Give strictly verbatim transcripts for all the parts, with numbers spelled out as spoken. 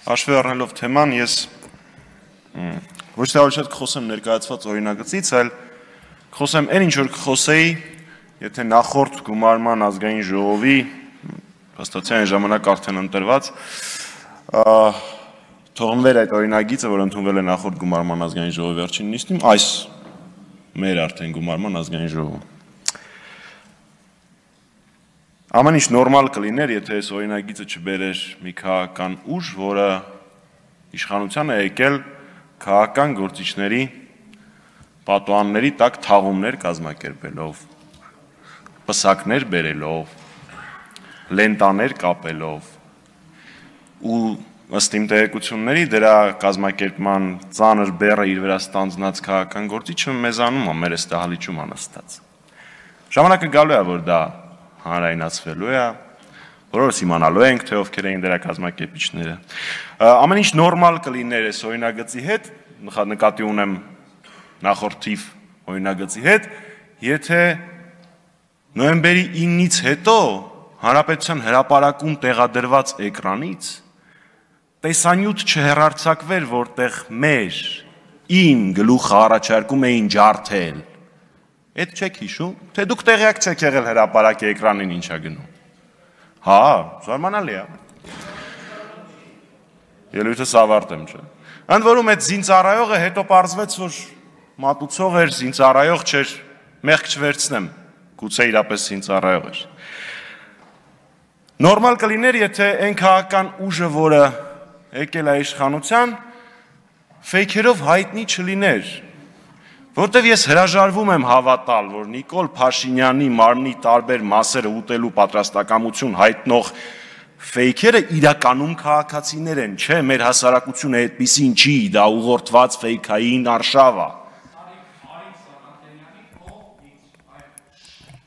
Հաշվի առնելով թեման, ես ոչ թե ավելի շատ կխոսեմ ներկայացված օրինագծից, այլ կխոսեմ այն ինչ որ կխոսեի, եթե նախորդ գումարման ազգային ժողովի հաստատության ժամանակ արդեն ընտրված թողնվեր այդ օրինագիծը, որ ընդունվել է նախորդ գումարման ազգային ժողովի վերջին նիստում, այս մեր արդեն գումարման ազգային ժողովում։ Ամեն ինչ նորմալ կլիներ, եթե այս օրինագիծը չբերեր մի քաղաքական ուժ, որը իշխանության է եկել քաղաքական գործիչների պատուհանների տակ թաղումներ կազմակերպելով, պսակներ բերելով, լենտաներ կապելով ու ըստ իմ տեղեկությունների դրա կազմակերպման ծանր բեռը իր վրա ստանձնած քաղաքական գործիչը մեզանում է, մեր այս դահլիճում անստած։ Ժամանակը գալու է, որ դա հանրայնացվելու է, որովհետև իմանալու ենք, թե ովքեր էին դրա կազմակերպիչները։ Ամեն ինչ նորմալ կլիներ այս օրինագծի հետ, նկատի ունեմ նախորդ թիվ օրինագծի հետ, եթե նոյեմբերի իննից հետո Հանրապետության հրապարակում տեղադրված էկրանից տեսանյութ չհեռարձակվեր, որտեղ մեր իմ գլուխը առաջարկում էին ջարդել։ Այդ չեք հիշում, թե դուք տեղյակ չեք եղել հրապարակի էկրանին ինչա գնում։ Հա, զարմանալի է։ Ելույթս ավարտեմ, չէ։ Ընդ որում այդ զինծառայողը հետո պարզվեց, որ մատուցող էր, զինծառայող չէր, մեղք չվերցնեմ, գուցե իրապես զինծառայող էր։ Նորմալ կլիներ, եթե այն քաղաքական ուժը, որը եկել է իշխանության, ֆեյքերով հայտնի չլիներ։ Որտեվ ես հրաժարվում եմ հավատալ, որ Նիկոլ Փաշինյանի մարմնի տարբեր մասերը ուտելու պատրաստակամություն հայտնող ֆեյքերը իրականում քաղաքացիներ են, չէ, մեր հասարակությունը այդպիսին չի, դա ուղղորդված ֆեյքային արշավ է։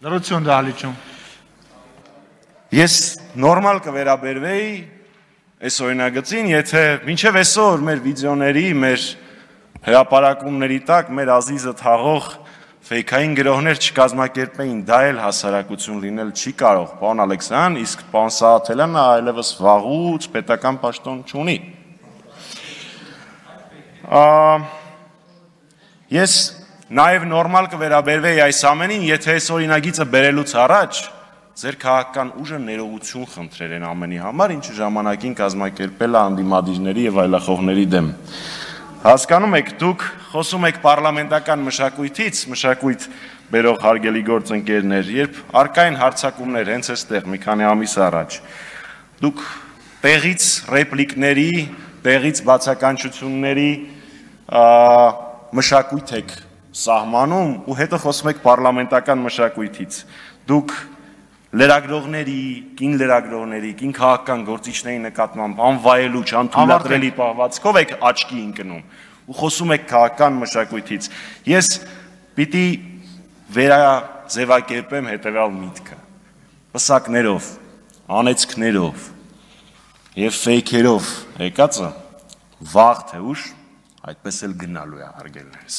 Լրություն դահլիճում։ Ես նորմալ կվերաբերվեի այս օրինագծին, եթե մինչև այսօր մեր վիդեոների, մեր հրապարակումների տակ մեր ազիզը թաղող ֆեյքային գրողներ չկազմակերպեին, դա էլ հասարակություն լինել չի կարող, պարոն Ալեքսյան, իսկ պարոն Սաղաթելյանը այլևս վաղուց պետական պաշտոն չունի։ Ես նաև նորմալ կվերաբերվեի այս ամենին, եթե այս օրինագիծը բերելուց առաջ ձեր քաղաքական ուժը ներողություն խնդրեր են ամենի համար, ինչը ժամանակին կազմակերպել է անդիմադիրների եւ այլախոհների դեմ։ Հասկանում եք, դուք խոսում եք պարլամենտական մշակույթից, մշակույթ բերող հարգելի գործընկերներ, երբ առկա են հարձակումներ հենց այստեղ մի քանի ամիս առաջ, դուք տեղից ռեպլիկների, տեղից բացականչությունների մշակույթ եք սահմանում ու հետո խոսում եք պարլամենտական մշակույթից։ Դուք լրագրողների, կին լրագրողների, կին քաղաքական գործիչների նկատմամբ անվայելուչ, անթույլատրելի պահվածքով եք աչքի ընկնում ու խոսում եք քաղաքական մշակույթից։ Ես պիտի վերաձևակերպեմ հետևյալ միտքը. պսակներով, անեծքներով եւ ֆեյքերով եկածը վաղ թե ուշ այդպես էլ գնալու է, հարգելիներս։